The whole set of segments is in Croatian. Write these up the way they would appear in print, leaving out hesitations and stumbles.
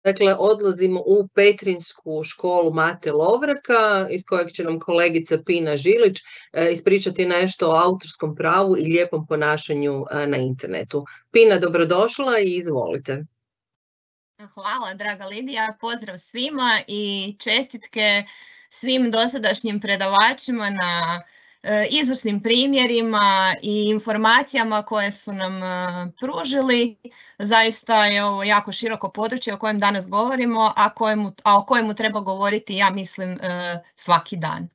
Dakle, odlazimo u Petrinjsku školu Mate Lovraka, iz kojeg će nam kolegica Pina Žilić ispričati nešto o autorskom pravu i lijepom ponašanju na internetu. Pina, dobrodošla i izvolite. Hvala, draga Lidija. Pozdrav svima i čestitke svim dosadašnjim predavačima na izvrsnim primjerima i informacijama koje su nam pružili. Zaista je ovo jako široko područje o kojem danas govorimo, a o kojemu treba govoriti, ja mislim, svaki dan.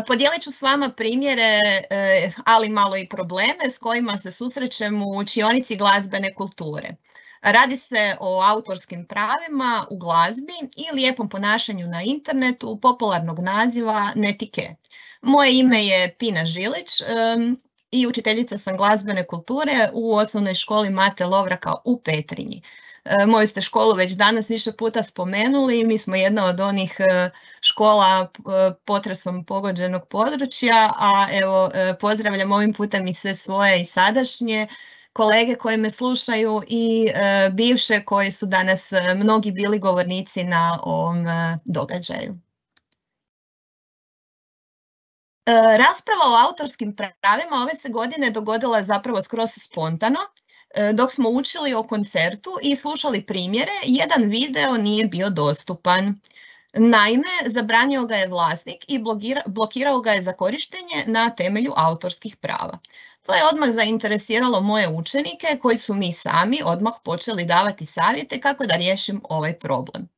Podijelit ću s vama primjere, ali malo i probleme s kojima se susrećemo u učionici glazbene kulture. Radi se o autorskim pravima u glazbi i lijepom ponašanju na internetu popularnog naziva Netike. Moje ime je Pina Žilić i učiteljica sam glazbene kulture u osnovnoj školi Mate Lovraka u Petrinji. Moju ste školu već danas više puta spomenuli, mi smo jedna od onih škola potresom pogođenog područja, a evo pozdravljam ovim putem i sve svoje i sadašnje kolege koji me slušaju i bivše koji su danas mnogi bili govornici na ovom događaju. Rasprava o autorskim pravima ove se godine dogodila zapravo skroz spontano. Dok smo učili o koncertu i slušali primjere, jedan video nije bio dostupan. Naime, zabranio ga je vlasnik i blokirao ga je za korištenje na temelju autorskih prava. To je odmah zainteresiralo moje učenike koji su mi sami odmah počeli davati savjete kako da riješim ovaj problem.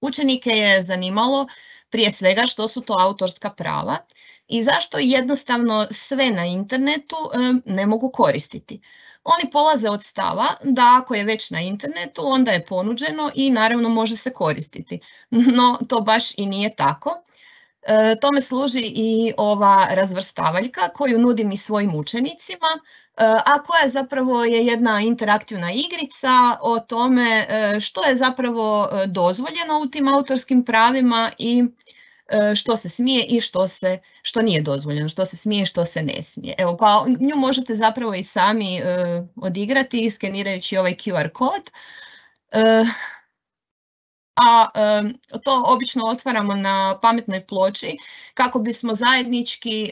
Učenike je zanimalo prije svega što su to autorska prava i zašto jednostavno sve na internetu ne mogu koristiti. Oni polaze od stava da ako je već na internetu, onda je ponuđeno i naravno može se koristiti. No, to baš i nije tako. Tome služi i ova razvrstavaljka koju nudim i svojim učenicima, a koja zapravo je jedna interaktivna igrica o tome što je zapravo dozvoljeno u tim autorskim pravima i što se smije i što nije dozvoljeno, što se smije i što se ne smije. Evo, pa nju možete zapravo i sami odigrati skenirajući ovaj QR kod. A to obično otvaramo na pametnoj ploči kako bismo zajednički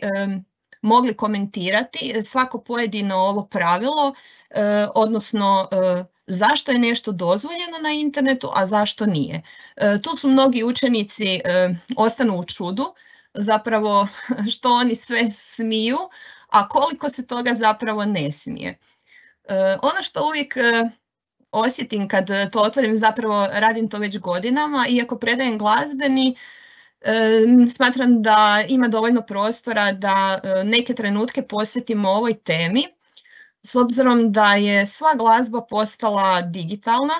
mogli komentirati svako pojedino ovo pravilo, odnosno zašto je nešto dozvoljeno na internetu, a zašto nije. Tu su mnogi učenici ostanu u čudu, zapravo što oni sve smiju, a koliko se toga zapravo ne smije. Ono što uvijek osjetim kad to otvorim, zapravo radim to već godinama, iako predajem glazbeni, smatram da ima dovoljno prostora da neke trenutke posvetimo ovoj temi, s obzirom da je sva glazba postala digitalna,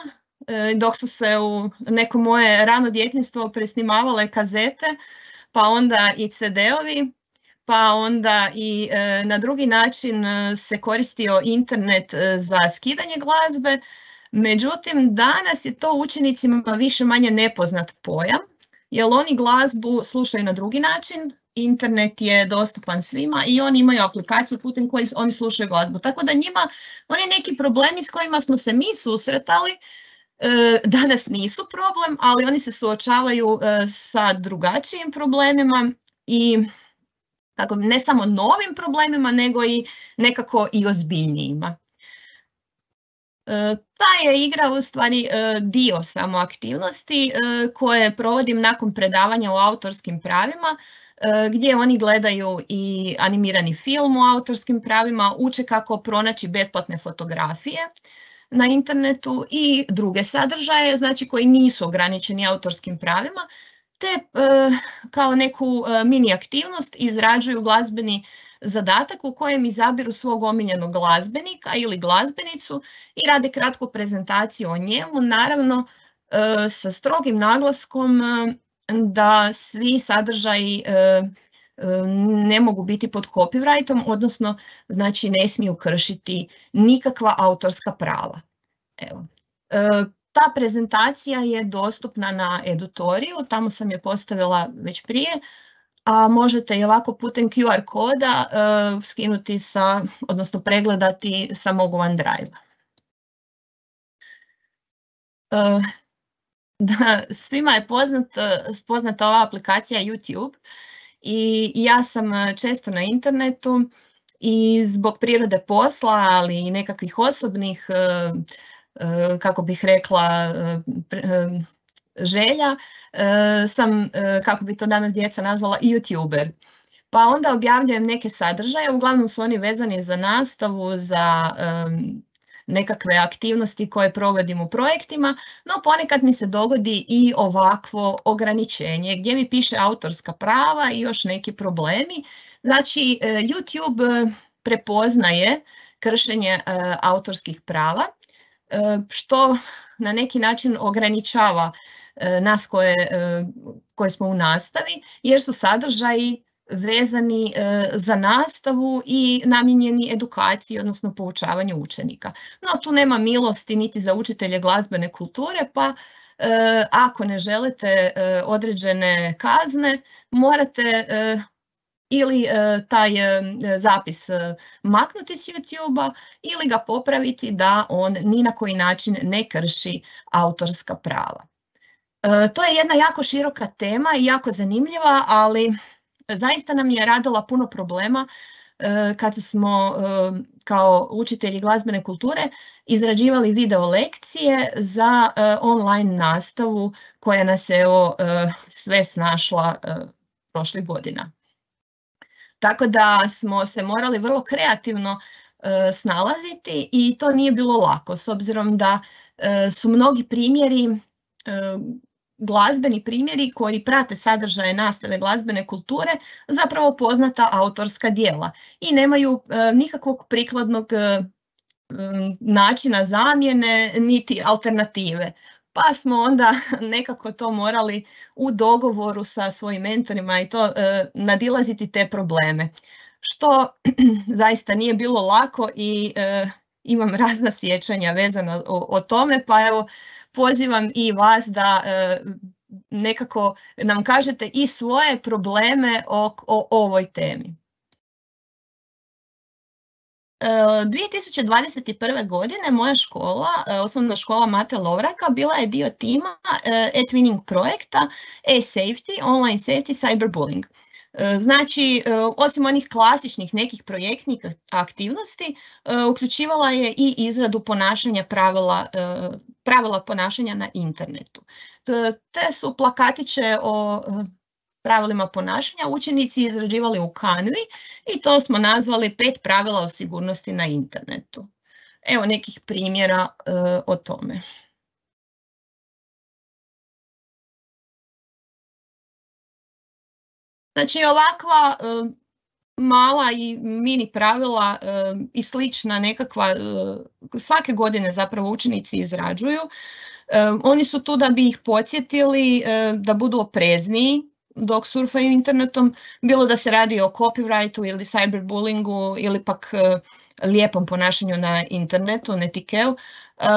dok su se u neko moje rano djetinjstvo presnimavale kazete, pa onda i CD-ovi, pa onda i na drugi način se koristio internet za skidanje glazbe. Međutim, danas je to učenicima više manje nepoznat pojam, jer oni glazbu slušaju na drugi način, internet je dostupan svima i oni imaju aplikaciju putem koje oni slušaju glazbu. Tako da njima oni neki problemi s kojima smo se mi susretali danas nisu problem, ali oni se suočavaju sa drugačijim problemima i ne samo novim problemima, nego i nekako i ozbiljnijima. Ta je igra u stvari dio samo aktivnosti koje provodim nakon predavanja o autorskim pravima, gdje oni gledaju i animirani film o autorskim pravima, uče kako pronaći besplatne fotografije na internetu i druge sadržaje, znači koji nisu ograničeni autorskim pravima, te kao neku mini aktivnost izrađuju glazbeni zadatak u kojem izabiru svog omiljenog glazbenika ili glazbenicu i rade kratku prezentaciju o njemu, naravno sa strogim naglaskom da svi sadržaji ne mogu biti pod copyrightom, odnosno znači ne smiju kršiti nikakva autorska prava. Evo. Ta prezentacija je dostupna na Edutoriju, tamo sam je postavila već prije, a možete i ovako putem QR koda skinuti odnosno pregledati sa mog OneDrive-a. Da, svima je poznata ova aplikacija YouTube i ja sam često na internetu i zbog prirode posla, ali i nekakvih osobnih, kako bih rekla, želja, sam, kako bi to danas djeca nazvala, YouTuber. Pa onda objavljujem neke sadržaje, uglavnom su oni vezani za nastavu, za nekakve aktivnosti koje provodim u projektima, no ponekad mi se dogodi i ovakvo ograničenje gdje mi piše autorska prava i još neki problemi. Znači, YouTube prepoznaje kršenje autorskih prava, što na neki način ograničava nas koje smo u nastavi, jer su sadržaji vezani za nastavu i namijenjeni edukaciji, odnosno poučavanju učenika. No, tu nema milosti niti za učitelje glazbene kulture, pa ako ne želite određene kazne, morate ili taj zapis maknuti s YouTube-a ili ga popraviti da on ni na koji način ne krši autorska prava. To je jedna jako široka tema i jako zanimljiva, ali zaista nam je radila puno problema kada smo kao učitelji glazbene kulture izrađivali video lekcije za online nastavu koja nas je sve snašla prošlih godina. Tako da smo se morali vrlo kreativno snalaziti i to nije bilo lako, s obzirom da su mnogi primjeri, glazbeni primjeri koji prate sadržaje nastave glazbene kulture zapravo poznata autorska djela i nemaju nikakvog prikladnog načina zamjene niti alternative. Pa smo onda nekako to morali u dogovoru sa svojim mentorima i to nadilaziti te probleme, što zaista nije bilo lako i imam razna sjećanja vezana o tome, pa evo pozivam i vas da nekako nam kažete i svoje probleme o ovoj temi. 2021. godine moja škola, osnovna škola Mate Lovraka, bila je dio tima e-twinning projekta e-safety, online safety, cyberbullying. Znači, osim onih klasičnih nekih projektnih aktivnosti, uključivala je i izradu ponašanja pravila ponašanja na internetu. Te su plakatiće o pravilima ponašanja učenici izrađivali u Canvi i to smo nazvali 5 pravila o sigurnosti na internetu. Evo nekih primjera o tome. Znači, ovakva mala i mini pravila i slična nekakva, svake godine zapravo učenici izrađuju. Oni su tu da bi ih podsjetili da budu oprezniji dok surfaju internetom, bilo da se radi o copyrightu ili cyberbullyingu ili pak lijepom ponašanju na internetu, netikeu.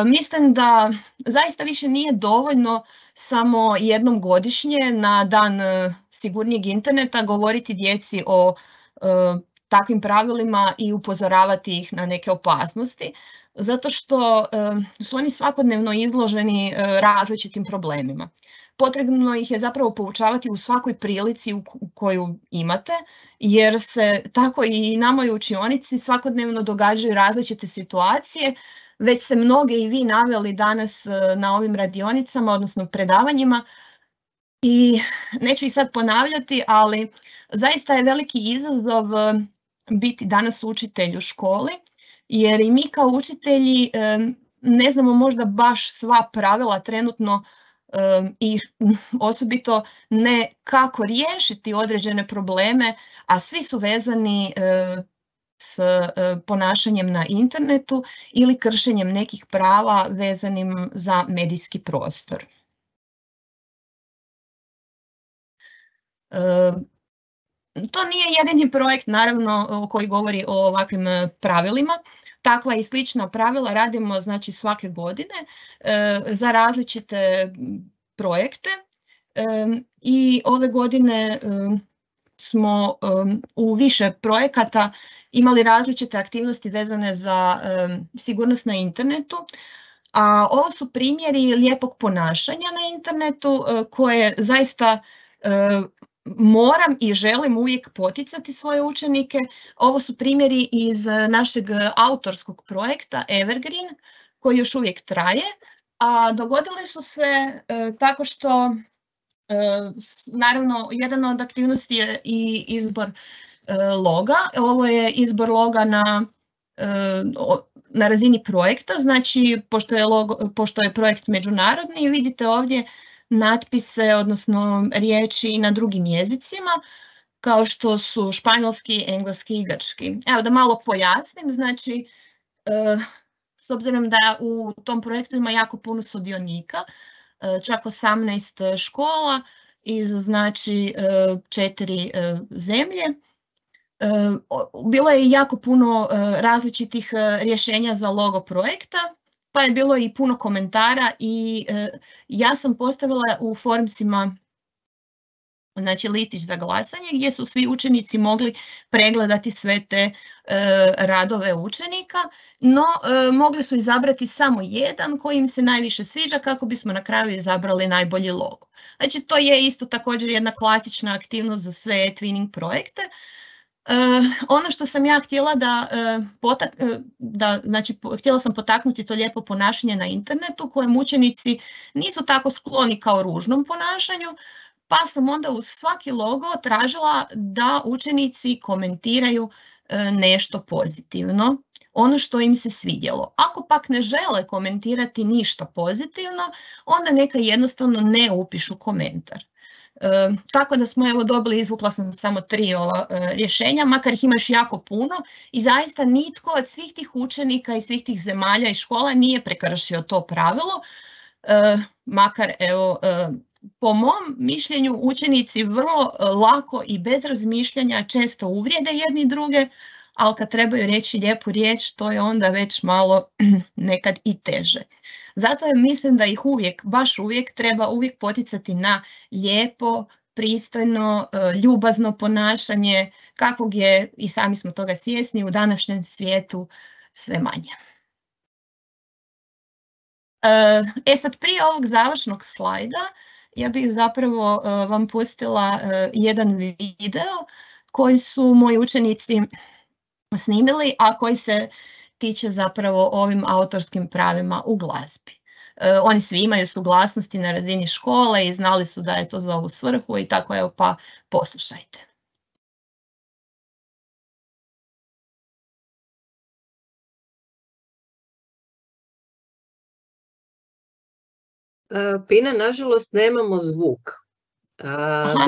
Mislim da zaista više nije dovoljno samo jednom godišnje na dan sigurnijeg interneta govoriti djeci o takvim pravilima i upozoravati ih na neke opasnosti, zato što su oni svakodnevno izloženi različitim problemima. Potrebno ih je zapravo poučavati u svakoj prilici koju imate, jer se tako i nama u učionici svakodnevno događaju različite situacije. Već ste mnoge i vi naveli danas na ovim radionicama, odnosno predavanjima, i neću ih sad ponavljati, ali zaista je veliki izazov biti danas učitelj u školi, jer i mi kao učitelji ne znamo možda baš sva pravila trenutno i osobito ne kako riješiti određene probleme, a svi su vezani s ponašanjem na internetu ili kršenjem nekih prava vezanim za medijski prostor. To nije jedini projekt, naravno, koji govori o ovakvim pravilima. Takva i slična pravila radimo, znači, svake godine za različite projekte i ove godine smo u više projekata imali različite aktivnosti vezane za sigurnost na internetu, A ovo su primjeri lijepog ponašanja na internetu koje zaista moram i želim uvijek poticati svoje učenike. Ovo su primjeri iz našeg autorskog projekta Evergreen koji još uvijek traje, a dogodili su se tako što naravno jedan od aktivnosti je i izbor loga. Ovo je izbor loga na razini projekta, znači pošto je projekt međunarodni, vidite ovdje natpise, odnosno riječi na drugim jezicima, kao što su španjolski, engleski i grčki. Evo da malo pojasnim, znači s obzirom da u tom projektu ima jako puno sudionika, čak 18 škola iz znači 4 zemlje. Bilo je jako puno različitih rješenja za logo projekta, pa je bilo i puno komentara i ja sam postavila u forumsima znači listić za glasanje gdje su svi učenici mogli pregledati sve te radove učenika, no mogli su izabrati samo jedan koji im se najviše sviđa kako bismo na kraju izabrali najbolji logo. Znači to je isto također jedna klasična aktivnost za sve twinning projekte. Ono što sam ja htjela htjela sam potaknuti to lijepo ponašanje na internetu kojem učenici nisu tako skloni kao ružnom ponašanju, pa sam onda uz svaki logo tražila da učenici komentiraju nešto pozitivno, ono što im se svidjelo. Ako pak ne žele komentirati ništa pozitivno, onda neka jednostavno ne upišu komentar. Tako da smo evo dobili, izvukla sam samo 3 ova rješenja, makar ih ima još jako puno i zaista nitko od svih tih učenika i svih tih zemalja i škola nije prekršio to pravilo, makar evo po mom mišljenju učenici vrlo lako i bez razmišljanja često uvrijede jedni druge, ali kad trebaju reći lijepu riječ, to je onda već malo nekad i teže. Zato mislim da ih uvijek, baš uvijek, treba uvijek poticati na lijepo, pristojno, ljubazno ponašanje, kakvog je, i sami smo toga svjesni, u današnjem svijetu sve manje. Sad prije ovog završnog slajda, ja bih zapravo vam pustila jedan video koji su moji učenici snimili, a koji se tiče zapravo ovim autorskim pravima u glazbi. Oni svi imaju suglasnosti na razini škole i znali su da je to za ovu svrhu i tako, evo, pa poslušajte. Pina, nažalost nemamo zvuk.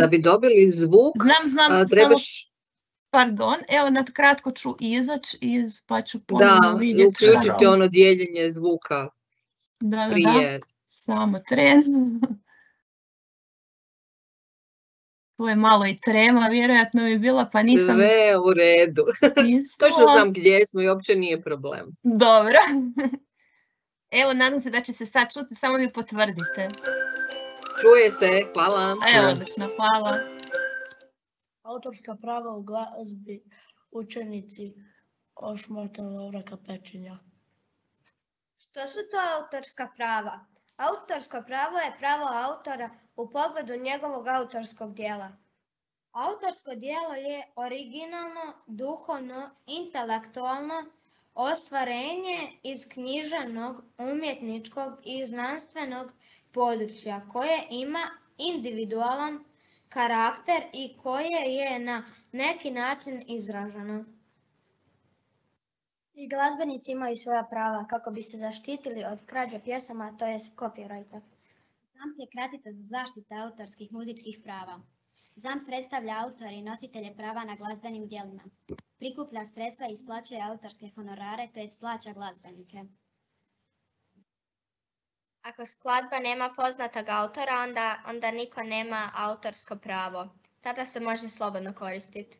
Da bi dobili zvuk, znam, trebaš... Pardon, evo kratko ću izaći pa ću ponovno vidjeti. Da, uključiti ono dijeljenje zvuka prije. Da, samo tren. Tu je malo i trema, vjerojatno bi bila, pa nisam... Sve u redu. Točno znam gdje smo i uopće nije problem. Dobro. Evo, nadam se da će se sad čuti, samo mi potvrdite. Čuje se, hvala. Evo, odlično, hvala. Autorska prava u glazbi, učenici Ošmata Lovraka Pečinja. Što su to autorska prava? Autorsko pravo je pravo autora u pogledu njegovog autorskog dijela. Autorsko dijelo je originalno, duhovno, intelektualno ostvarenje iz književnog, umjetničkog i znanstvenog područja koje ima individualan karakter i koje je na neki način izraženo. I glazbenici imaju svoja prava kako bi se zaštitili od krađe pjesama, to je copyrighta. ZAMP je kratica za zaštitu autorskih muzičkih prava. ZAMP predstavlja autore i nositelje prava na glazbenim djelima. Prikuplja sredstva i isplaćuje autorske honorare, to je plaća glazbenike. Ako skladba nema poznatog autora, onda niko nema autorsko pravo. Tada se može slobodno koristiti.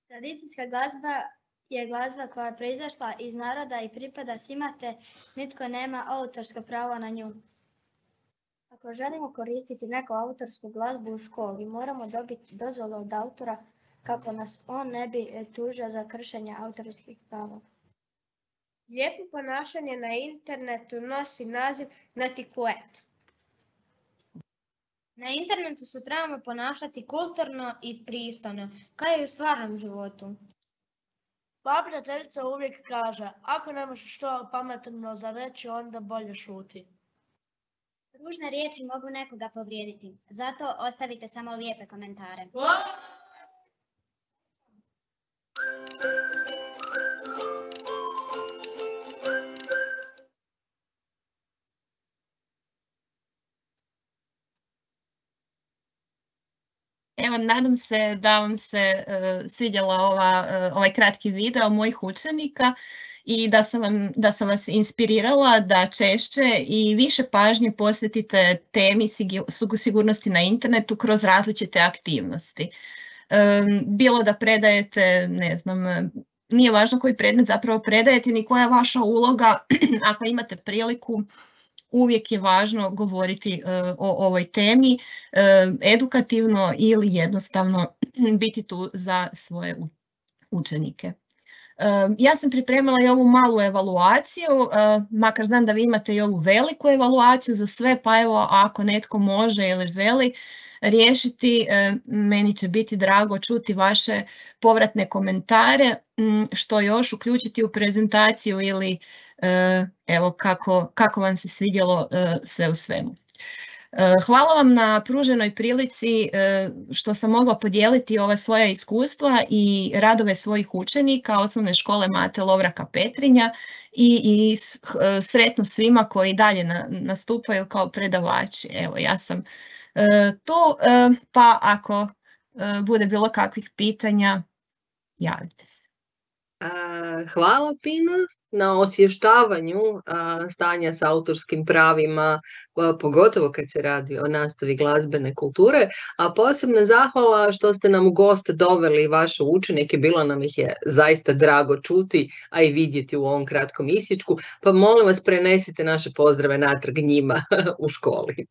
Tradicijska glazba je glazba koja je proizašla iz naroda i pripada svima, te nitko nema autorsko pravo na nju. Ako želimo koristiti neku autorsku glazbu u školi, moramo dobiti dozvolu od autora kako nas on ne bi tužio za kršenje autorskih prava. Lijepo ponašanje na internetu nosi naziv netiquette. Na internetu se trebamo ponašati kulturno i pristojno, kao i u stvarnom životu. Moja prijateljica uvijek kaže, ako nemaš što pametno za reći, onda bolje šuti. Ružne riječi mogu nekoga povrijediti, zato ostavite samo lijepe komentare. Evo, nadam se da vam se svidjela ovaj kratki video mojih učenika i da sam vas inspirirala da češće i više pažnje posvetite temi sigurnosti na internetu kroz različite aktivnosti. Bilo da predajete, ne znam, nije važno koji predmet zapravo predajete ni koja je vaša uloga, ako imate priliku, uvijek je važno govoriti o ovoj temi, edukativno ili jednostavno biti tu za svoje učenike. Ja sam pripremila i ovu malu evaluaciju, makar znam da vi imate i ovu veliku evaluaciju za sve, pa evo ako netko može ili želi riješiti, meni će biti drago čuti vaše povratne komentare, što još uključiti u prezentaciju ili evo kako vam se svidjelo sve u svemu. Hvala vam na pruženoj prilici što sam mogla podijeliti ova svoja iskustva i radove svojih učenika Osnovne škole Mate Lovraka Petrinja i sretno svima koji dalje nastupaju kao predavači. Evo, ja sam tu, pa ako bude bilo kakvih pitanja, javite se. Hvala Pina na osvještavanju stanja s autorskim pravima, pogotovo kad se radi o nastavi glazbene kulture, a posebna zahvala što ste nam u gost doveli vaše učenike, bilo nam ih je zaista drago čuti, a i vidjeti u ovom kratkom isječku, pa molim vas prenesite naše pozdrave natrag njima u školi.